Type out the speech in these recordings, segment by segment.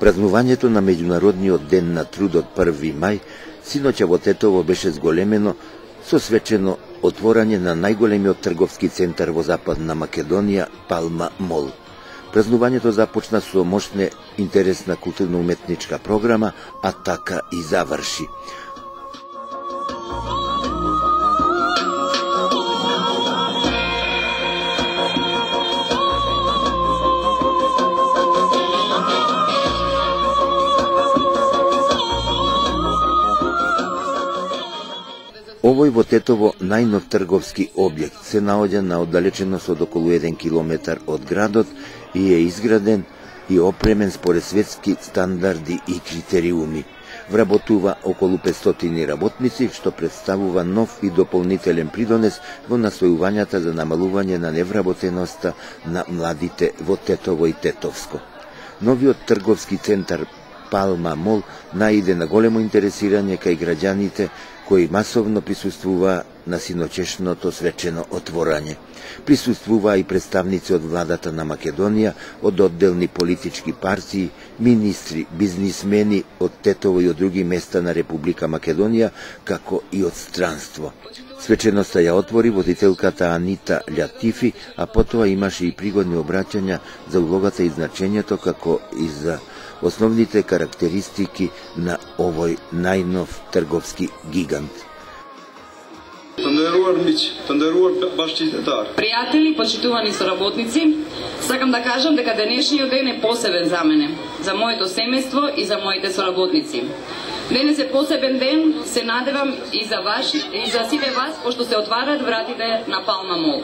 Празнувањето на Меѓународниот ден на трудот 1 мај синоќа во Тетово беше зголемено со свечено отворање на најголемиот трговски центар во Западна Македонија, Палма Мол. Празнувањето започна со мощна интересна културно-уметничка програма, а така и заврши. Овој во Тетово најнов трговски објект се наоѓа на оддалеченост од околу 1 километар од градот и е изграден и опремен според светски стандарди и критериуми. Вработува околу 500 работници, што представува нов и дополнителен придонес во настојувањата за намалување на невработеноста на младите во Тетово и Тетовско. Новиот трговски центар Палма Мол наиде на големо интересирање кај граѓаните кои масовно присуствуваа на синочешното свечено отворање. Присуствуваа и представници од владата на Македонија, од одделни политички партии, министри, бизнисмени од Тетово и од други места на Република Македонија, како и од странство. Свеченоста ја отвори водителката Анита Лјатифи, а потоа имаше и пригодни обраќања за улогата и значењето, како и за основните карактеристики на овој најнов трговски гигант. Пријатели, почитувани соработници, сакам да кажам дека денешниот ден е посебен за мене, за моето семејство и за моите соработници. Денес е посебен ден, се надевам и за вас и за сите вас, пошто се отварат вратите на Палма Мол.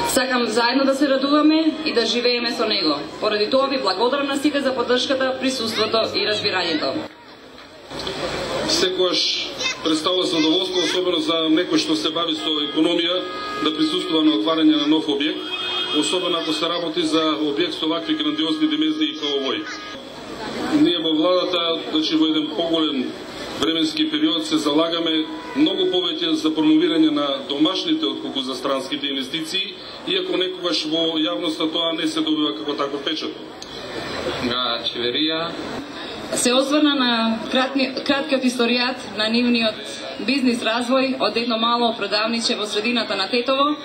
Сакам заедно да се радуваме и да живееме со него. Поради тоа ви благодарам на сите за поддршката, присуството и разбирањето. Секогаш представува задоволство, особено за некој што се бави со економија, да присуствува на отварање на нов објект, особено ако се работи за објект со вакви грандиозни димензии како овој. Ние во владата, значи во еден поголем временски период се залагаме многу повеќе за промовирање на домашните отколку за странските инвестиции, иако некогаш во јавноста тоа не се добива како таков печат. Чеверија се осврна на краткиот историјат на нивниот бизнис развој од едно мало продавниче во средината на Тетово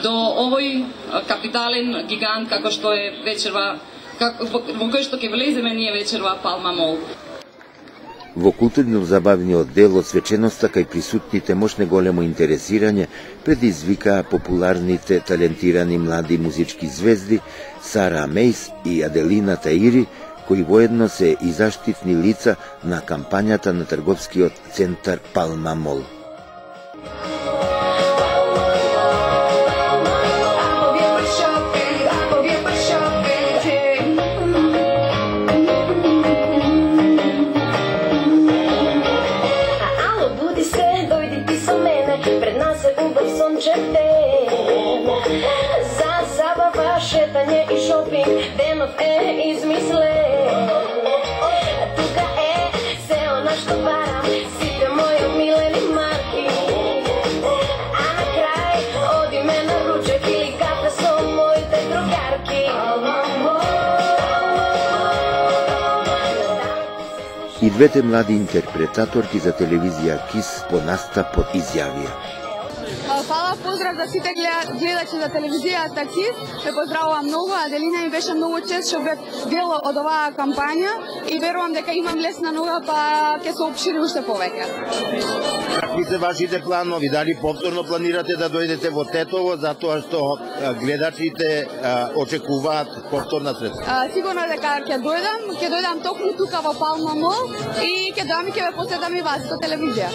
до овој капитален гигант како што е вечерва, во кој што ќе влеземе ние вечерва Палма Мол. Во културно-забавниот дел од свеченоста кај присутните мощне големо интересирање предизвикаа популарните талентирани млади музички звезди Сара Мейс и Аделина Таири, кои воедно се и заштитни лица на кампањата на трговскиот центар Палма Мол. За забава, шетање и шопинг, денот е измислен. Тука е се она што барам, сите мои милени марки. А на крај одиме на ручек или кафе со моите другарки. И двете млади интерпретаторки за телевизија КИС по настапот изјавија: Фала, поздрав за сите гледачи за телевизијата КИС. Ме поздравувам многу, Аделина ми беше многу чест што бев дел од оваа кампања и верувам дека имам лесна нога, па ќе се опшири уште повеќе. Какви се вашите планови? Дали повторно планирате да дојдете во Тетово, затоа што гледачите очекуваат повторна средба? Сигурно дека ќе дојдам токму тука во Палма Мол и ќе дојдам и ќе ве посетам и вас со телевизија.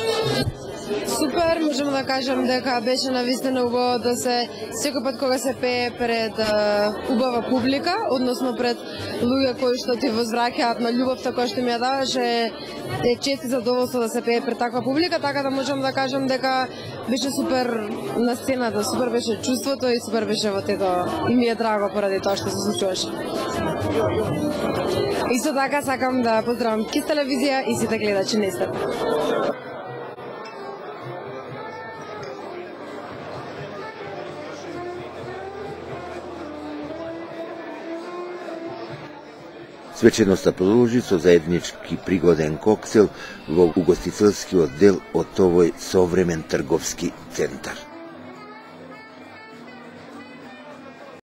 Супер, можам да кажам дека беше навистина убаво да се секој пат кога се пее пред убава публика, односно пред луѓе кои што ти возвраќаат на љубовта која што ми ја даваше, е чест и задоволство да се пее пред таква публика, така да можам да кажам дека беше супер на сцената, супер беше чувството и супер беше во тето и ми е драго поради тоа што се случуваше. Исто така сакам да поздравам КИС телевизија и сите гледачи на истата. Свеченоста продолжи со заеднички пригоден коксел во угостителскиот дел од овој современ трговски центар.